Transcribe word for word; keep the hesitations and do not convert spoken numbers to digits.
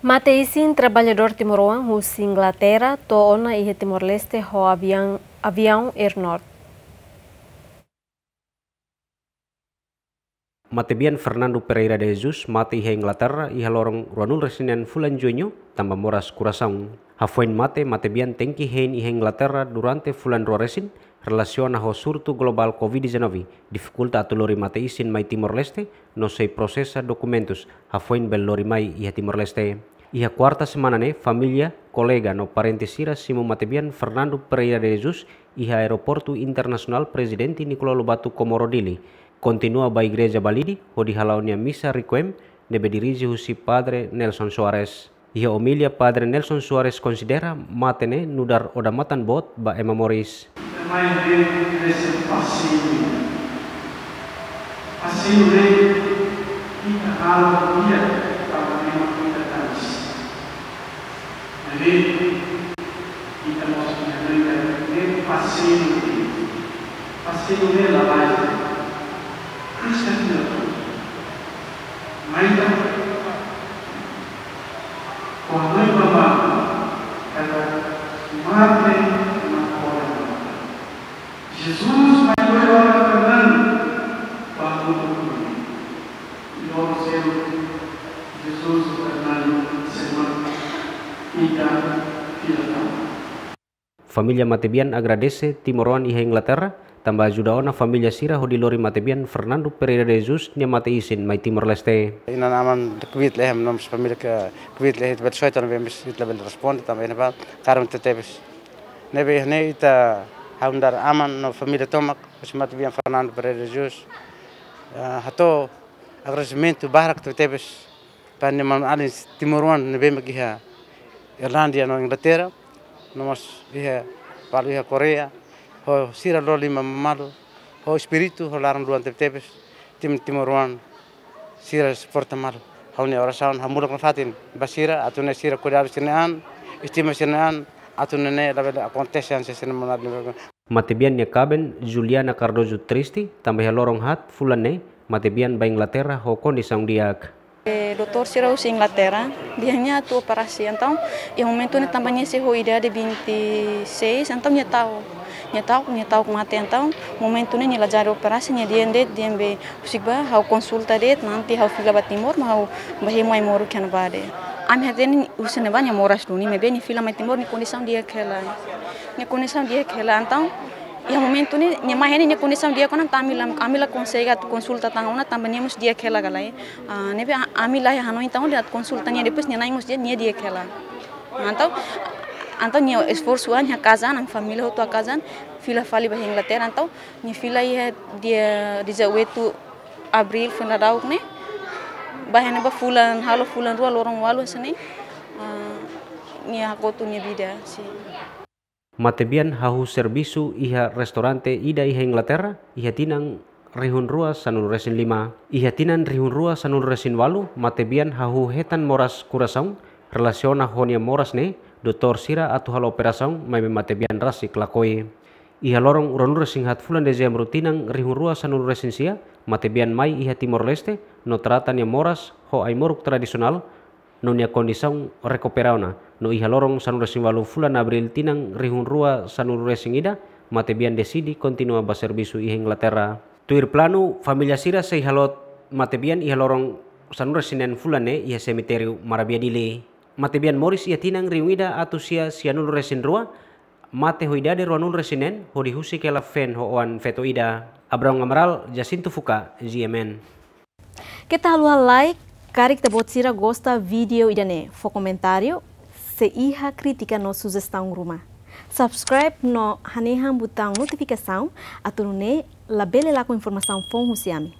Mate isin traballadór timoroan husi Inglaterra to'o ona iha Timor-Leste ho aviaun, aviaun Air North. Matebian Fernando Pereira de Jesus mate iha Inglaterra iha loron ruanulu-resin-neen fulan Juñu tanba moras korasaun. Hafoin mate, matebian tenke hein iha Inglaterra durante fulan rua resin, relasiona ho surtu globál covid dezanove, difikulta atu lori mate isin mai Timor-Leste, no sei prosesa dokumentus, hafoin bele lori mai iha Timor-Leste. Iha kuarta semana ne'e, família, kolega no parente sira simu matebian Fernando Pereira de Jesus iha Aeroportu Internasionál Prezidente Nicolau Lobato Comoro Dili. Kontinua ba igreja Balide, hodi hala'o nia misa requiem, ne'ebé dirije husi Padre Nelson Soares. Iha omilia Padre Nelson Soares konsidera mate ne'e nu'udar odamatan boot ba ema moris. Mai bem nesse passeio. Passeio bem, ita halo dia para ema ita tanis. Jadi, ita mós menjaga nem passeio bem. Passeio bem la mais. Kristen tidak. Mai ita. Kuandu iha mama, kada mate na hora. Jesus mai ko'alia ho Fernando, ba mundu kumi. Loron seluk, Jesus ho Fernando sei mai ita fila tama. Família matebian agradese timoroan iha Inglaterra, tanba ajuda ona família sira hodi lori matebian Fernando Pereira de Jesus nia mate isin mai Timor-Leste. Inan-aman kbiit lehem, no mós família kbiit lehem, ita bele soe tan be mis ita bele responde tanba iha ne'ebá kaer tebetebes. Ne'ebé ne'e ita hau nu'udar aman no família tomak, husi matebian Fernando Pereira de Jesus. Ah, hato'o agradesimentu barak tebetebes ba nia manu-alin timoroan ne'ebé mak iha Irlandia no Inglaterra, no mós iha, balu iha Koreia, ho sira lori liman malu, ho espíritu, ho laran-luan tebetebes, tim timoroan sira suporta malu. Ha'u-nia orasaun, ha'u mulak nafatin ba sira, atu nune'e sira kuidadu sira-nia an, estima sira-nia an, atu nune'e labele akontese hanesan sira-nia manu-alin. Matebian nia kaben, Juliana Cardoso triste, tanba iha loron haat fulan ne'e, matebian ba Inglaterra ho kondisaun di'ak. Eh, doutór sira husi Inglaterra, dehan nia atu operasi, entaun, iha momentu ne'e tanba nia sei ho idade vinte e seis, entaun nia ta'uk, nia ta'uk, nia ta'uk mate, entaun, momentu ne'e nia la jadi operasi, nia dehan de'it, dehan be, husik bá, ha'u konsulta de'it, nanti ha'u fila ba Timor, mak ha'u bá hemu ai-moruk iha ne'ebá de'it. Ami hatene husi ne'ebá nia moras duni, maibé nia fila mai Timor, nia kondisaun di'ak hela. Nia kondisaun di'ak hela, entaun, iha momentu ne'e, nia mai iha ne'e nia kondisaun di'ak ona, entaun ami la, ami la konsege atu konsulta tan ona, tanba nia mós di'ak hela ka lae. Ah, ne'ebé a-, ami la iha hanoin tan ona atu konsulta nia, depois nia na'in mós dehan nia di'ak hela. Entaun, entaun nia esforsu an, nia hakaas an, ami família hotu hakaas an, fila fali ba Inglaterra, entaun, nia fila iha dia dezoito Abríl, foin daudauk ne'e, bá iha ne'ebá fulan, halo fulan rua, loron ualu hanesan ne'e, ah, nia hakotu nia vida, sin. Matebian hahú servisu iha restaurante ida iha Inglaterra, iha tinan rihun rua sanulu-resin-lima. Iha tinan rihun rua sanulu-resin-ualu, matebian hahú hetan moras korasaun, relasiona ho nia moras ne'e, doutór sira atu halo operasaun, maibé matebian rasik lakohi. Iha loron ruanulu-resin-haat fulan Dezembru tinan rihun rua sanulu-resin-sia, matebian mai iha Timor-Leste, no trata nia moras ho ai-moruk tradisionál, no nia kondisaun rekupera ona, no iha loron sanulu-resin-ualu fulan Abríl tinan rihun rua sanulu-resin-ida, matebian deside kontinua bá servisu iha Inglaterra. Tuir planu, família sira sei halot matebian iha loron sanulu-resin-neen fulan ne'e iha semitériu Marabia Dili. Matebian moris iha tinan rihun ida atus sia sianulu-resin-rua, mate ho idade ruanulu-resin-neen, hodi husik hela feen ho oan-feto ida. Abraão Amaral, Jacinto Fuka, G M N. Keta haluha like, karik ita-boot sira gosta vídeo ida-ne'e, fó komentáriu, se iha krítika no sujestaun ruma. Subscribe no hanehan butaun notifikasaun, atu nune'e labele lakon informasaun foun husi ami.